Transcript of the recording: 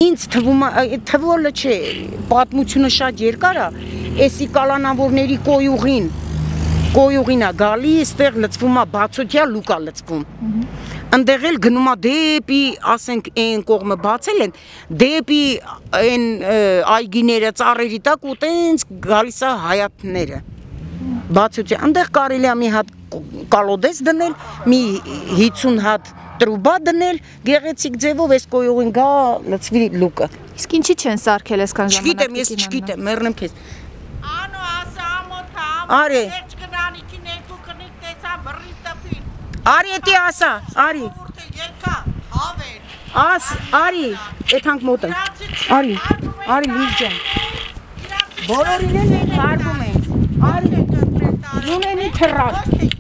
Ինձ թվոլը չէ, պատմությունը շատ երկար է, էսի կալանավորների կոյուղին է գալի, այստեղ լցվում է բացօթյա լուկ է լցվում։ Ընդեղ էլ գնում է դեպի, ասենք, այն կողմը բացել են, դեպի այն այգիները, ծառերի տակ ու տենց գալիս է հայաթները։ Բացօթյա, ընդեղ կարելի է մի հատ կալոդես դնել, մի 50 հատ տրուբա դնել, գեղեցիկ ձևով այս կոյուղին գա լցվի լուկը։ Իսկ ինչի չեն սարքել այսքան ժամանակ։ Չգիտեմ, ես չգիտեմ, մեռնեմ քեզ։ Անո ասա ամոթա, Արի։ վերջ կնանիքի ներքու կնիկ տեսա բռի տպին։ Արի էտի ասա, արի։ Ուրդը երկա, հավեր։ Արի, այդ հանք մոտ է։ Արի լույս ջան։ Բոլորին են հարգում են։ Արի, ունենի թռակ։